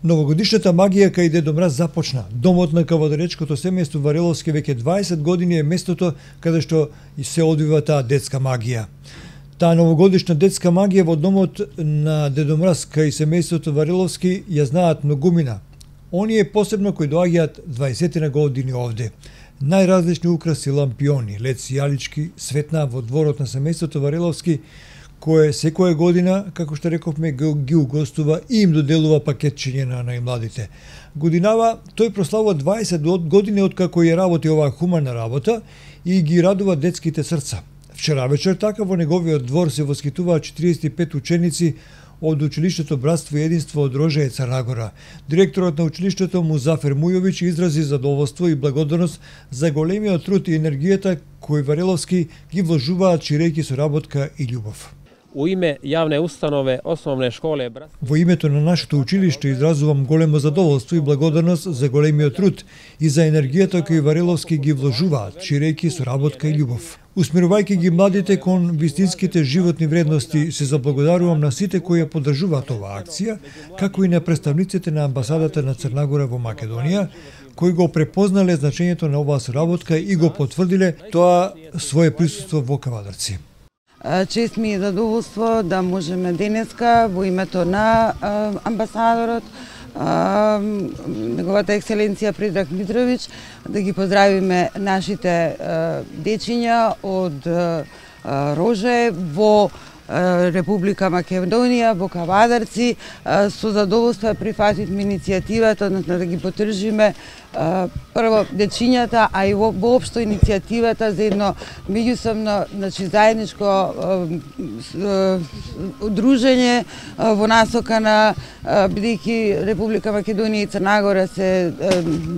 Новогодишната магија кај Дедо Мраз започна. Домот на кавадаречкото семејство Вариловски веќе 20 години е местото каде што се одвива таа детска магија. Таа новогодишна детска магија во домот на Дедо Мраз кај семејството Вариловски ја знаат многумина. Оние посебно кои доаѓаат 20 години овде. Најразлични украси, лампиони, лед сијалички светнаа во дворот на семејството Вариловски, кое секоја година, како што рековме, ги угостува и им доделува пакетчиња на најмладите. Годинава тој прославува 20 години откако ја работи оваа хумана работа и ги радува детските срца. Вчера вечер така во неговиот двор се воскитуваат 45 ученици од училиштето Братство и единство од Рожеје, Црна Гора. Директорот на училиштето Музафер Мујовиќ изрази задоволство и благодарност за големиот труд и енергијата кои Вариловски ги вложуваат ширејќи соработка и љубов. У име јавне установе Основне школе Во името на нашето училиште изразувам големо задоволство и благодарност за големиот труд и за енергијата кои Вариловски ги вложуваат, ширејќи соработка и љубов. Усмирувајќи ги младите кон вистинските животни вредности, се заблагодарувам на сите кои ја поддржуваат оваа акција, како и на представниците на амбасадата на Црна Гора во Македонија, кои го препознале значењето на оваа соработка и го потврдиле тоа свое присуство во Кавадарци. Чест ми е задоволство да можеме денеска во името на амбасадорот, неговата екселенција Предраг Митровиќ, да ги поздравиме нашите дечиња од Рожеје во Република Македонија, во Кавадарци. Со задоволство прифативме иницијативата, односно да ги поддржиме прво дечињата, а и воопшто иницијативата за едно меѓусобно, заедничко удружење во насока на, бидејќи Република Македонија и Црна Гора се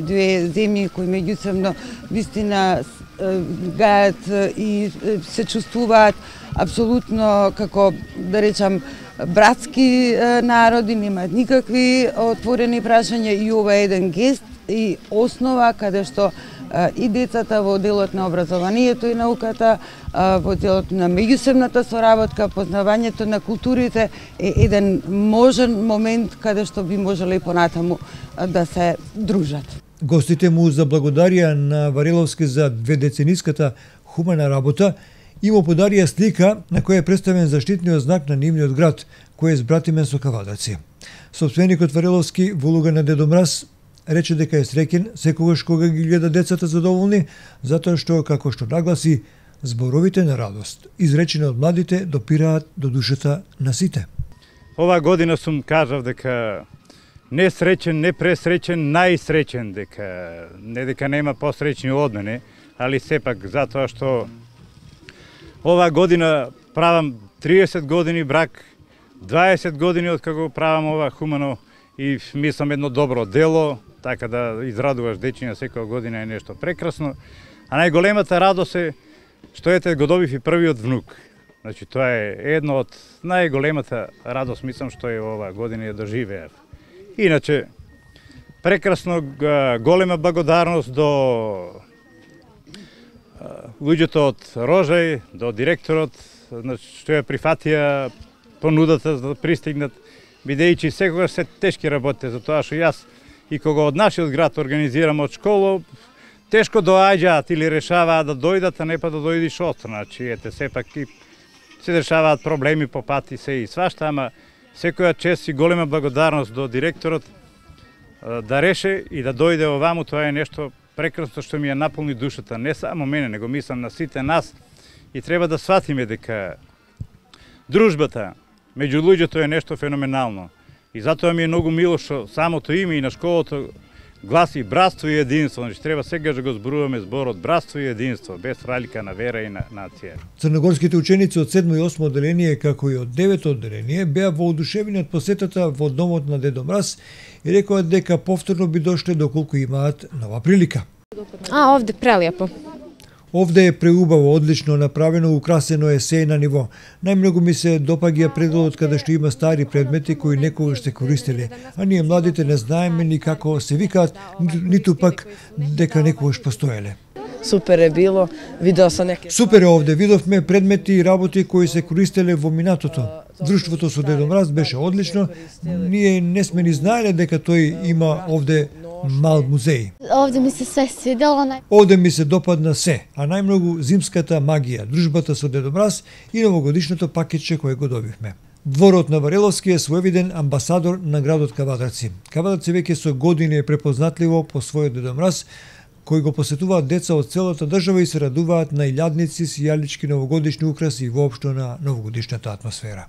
две земји кои меѓусобно вистина гајат и се чувствуваат апсолутно како, да речам, братски народи, немаат никакви отворени прашања и ова е еден гест и основа каде што и децата во делот на образованието и науката, во делот на меѓусебната соработка, познавањето на културите е еден можен момент каде што би можеле и понатаму да се дружат. Гостите му заблагодарија на Вариловски за дведецениската хумана работа и му подарија слика на која е представен заштитниот знак на нивниот град, кој е збратимен со Кавадарци. Собственикот Вариловски во улога на Дедо Мраз рече дека е среќен секогаш кога ги гледа децата задоволни, затоа што, како што нагласи, зборовите на радост, изречени од младите, допираат до душата на сите. Ова година сум кажав дека не среќен, не пресреќен, најсреќен, дека нема посреќни од мене, али сепак затоа што ова година правам 30 години брак, 20 години откако правам ова хумано и мислам едно добро дело, така да израдуваш дечиња секоја година е нешто прекрасно. А најголемата радост е што ете го добив и првиот внук. Значи тоа е едно од најголемата радост, мислам, што е ова година ја доживеав. Иначе прекрасно, голема благодарност до луѓето од Рожеј, до директорот, што ја прифатија понудата за да пристигнат, бидејќи секогаш се тешки работите, затоа што јас и кога од нашиот град организирам од школа, тешко доаѓаат или решаваат да дојдат, а не па да дојдиш од. Значи, ете, сепак и се решаваат проблеми по пат и се и свашта, ама секоја чест и голема благодарност до директорот да реше и да дојде оваму, тоа е нешто прекрасно што ми ја наполни душата, не само мене, него мислам на сите нас и треба да сватиме дека дружбата меѓу луѓето е нешто феноменално. И затоа ми е многу мило што самото име и на школото гласи братство и единство. Значи треба сега да го зборуваме зборот братство и единство, без разлика на вера и на нација. Црногорските ученици од 7 и 8 одделение, како и од 9 одделение, беа воодушевени од посетата во домот на Дедо Мраз и рекоа дека повторно би дошле доколку имаат нова прилика. Овде прелепо. Овде е преубаво, одлично направено, украсено е се на ниво. Најмногу ми се допаѓа пределот каде што има стари предмети кои некогаш се користеле, а ние младите не знаеме ни како се викаат, ниту пак дека некогаш постоеле. Супер е било, видео со неки. Супер е овде, видовме предмети и работи кои се користеле во минатото. Друштвото со Дедо Мраз беше одлично. Ние не сме ни знаеле дека тој има овде мал музеј. Овде ми се све свидело. Овде ми се допадна се, а најмногу зимската магија, дружбата со Дедо Мраз и новогодишното пакетче кое го добивме. Дворот на Вареловски е своевиден амбасадор на градот Кавадарци. Кавадарци веќе со години е препознатливо по својот Дедо Мраз, кои го посетуваат деца од целата држава и се радуваат на илјадници, сијалички новогодишни украси и воопшто на новогодишната атмосфера.